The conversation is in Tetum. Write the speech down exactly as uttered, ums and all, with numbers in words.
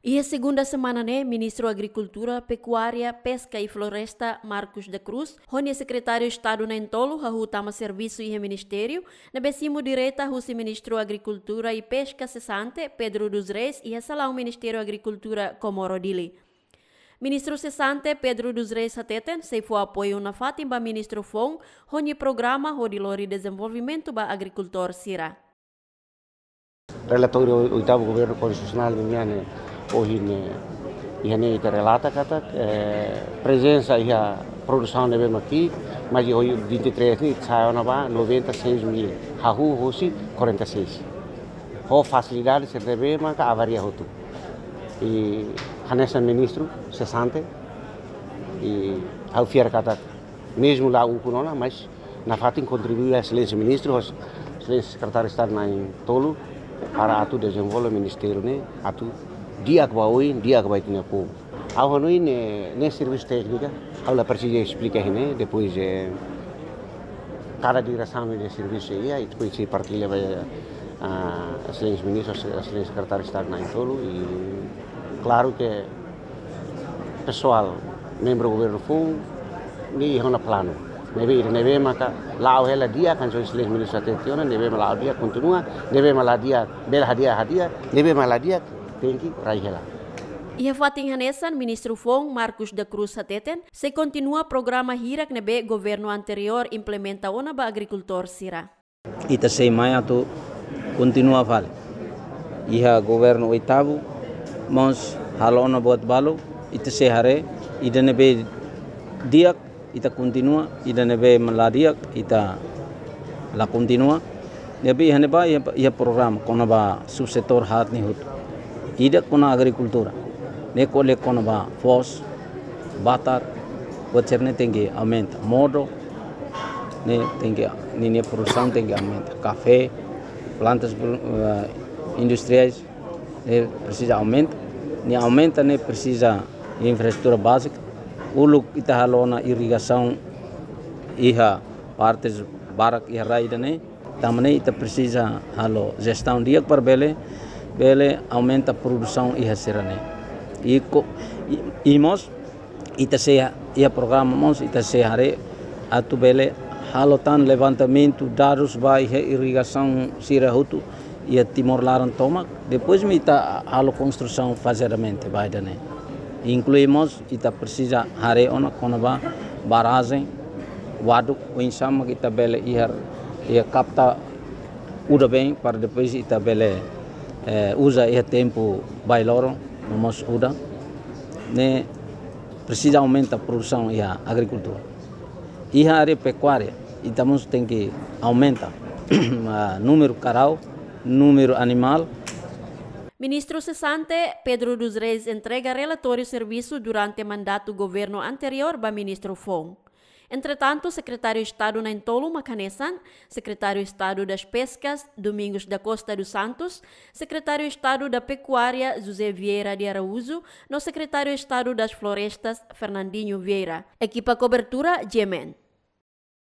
Iha segunda semana ne'e, Ministru Agrikultura, Pekuária, Peska i Floresta, Marcos da Cruz, ho nia Sekretáriu Estadu na'in-tolu hahú tama servisu iha ministériu, ne'ebé simu direta husi Ministru Agrikultura i Peska sesante, Pedro dos Reis, iha salaun Ministériu Agrikultura Comoro Dili. Ministru sesante Pedro dos Reis hateten, sei fó apoiu nafatin ba ministru foun, ho nia programa hodi lori dezenvolvimentu ba agrikultór sira. Relatóriu oitavu Governu Konstitusionál nian ne'e ohin ne'e, iha ne'e ita relata katak, eh, prezensa iha produsaun ne'ebé mak ki'ik, mas iha ohin vinte e três ne'e sai ona ba noventa e seis mil. Hahú hosi quarenta e seis. Ho fasilidade sira ne'ebé maka avaria hotu. I hanesan ministru sesante, i ha'u fiar katak mezmu la ukun ona, mas nafatin kontribui ba Exelénsia Ministru, ho Exelénsia Sekretáriu Estadu na'in-tolu, para atu dezenvolve ministériu ne'e, atu di'ak ba oin, di'ak ba ita-nia povu. Ha'u hanoin ne'e, ne'e servisu téknika, ha'u la presiza esplika iha ne'e, depois, eh, kada diresaun nia servisu iha, i depois sei partilla ba, ah, Exelénsia Ministru, Exelénsia Sekretáriu Estadu na'in-tolu, i klaru ke pesoál, membru governu foun, ne'e iha ona planu. Ne'ebé, ne'ebé maka la'o hela di'ak, kan só Exelénsia Ministru hatete ona, ne'ebé mak la'o di'ak kontinua, ne'ebé mak la di'ak, bele hadi'a, hadi'a, ne'ebé mak la di'ak, tenke rai hela. Iha fatin hanesan, Ministru foun, Marcos da Cruz hateten, sei kontinua programa hirak ne'ebé governu anteriór implementa ona ba agrikultór sira. Ita sei mai atu kontinua fali. Iha governu oitavu, mós halo ona buat balu, ita sei haree, ida ne'ebé di'ak, ita kontinua, ida ne'ebé mak la di'ak, ita la kontinua. Ne'ebé iha ne'ebá, iha, iha programa, kona-ba subsetór haat ne'e hotu. Ida kona agrikultura, ne'e ko'alia kona-ba foos, batar, buat sira-ne'e tenke aumenta. Modo, ne'e tenke, ninia produsaun tenke aumenta. Kafé, plantas, eh, industriais, ne'e presiza aumenta. Nia aumenta, ne'e presiza infraestrutura bázika. Uluk ita halo ona irrigasaun iha partes barak iha rai ida-ne'e. Tanba ne'e ita presiza halo jestaun di'ak para bele, bele aumenta produsaun iha sira-ne'e. I ko, i, i mós ita sei, iha programa mós ita sei haree atu bele halo tan levantamentu dadus ba iha irrigasaun sira hotu iha Timor laran tomak. Depois mak ita halo konstrusaun fazeadamente ba ida-ne'e. Inklui mós ita presiza haree ona kona-ba barrajen, waduk, oinsá mak ita bele iha, iha kapta udan-been para depois ita bele, eh, uza iha tempu bailoron, no mós udan. Ne'e presiza aumenta produsaun iha agrikultura. Iha área pekuária, ita mós tenke aumenta, ah, númeru karau, númeru animál. Ministru sesante Pedro dos Reis entrega relatóriu servisu durante mandatu governu anteriór ba ministru foun. Entretantu, Sekretáriu Estadu na'in-tolu mak hanesan, Sekretáriu Estadu das Peskas, Domingos da Costa dos Santos, Sekretáriu Estadu da Pekuária, José Vieira de Araújo, no Sekretáriu Estadu das Florestas, Fernandinho Vieira. Ekipa kobertura, G M N.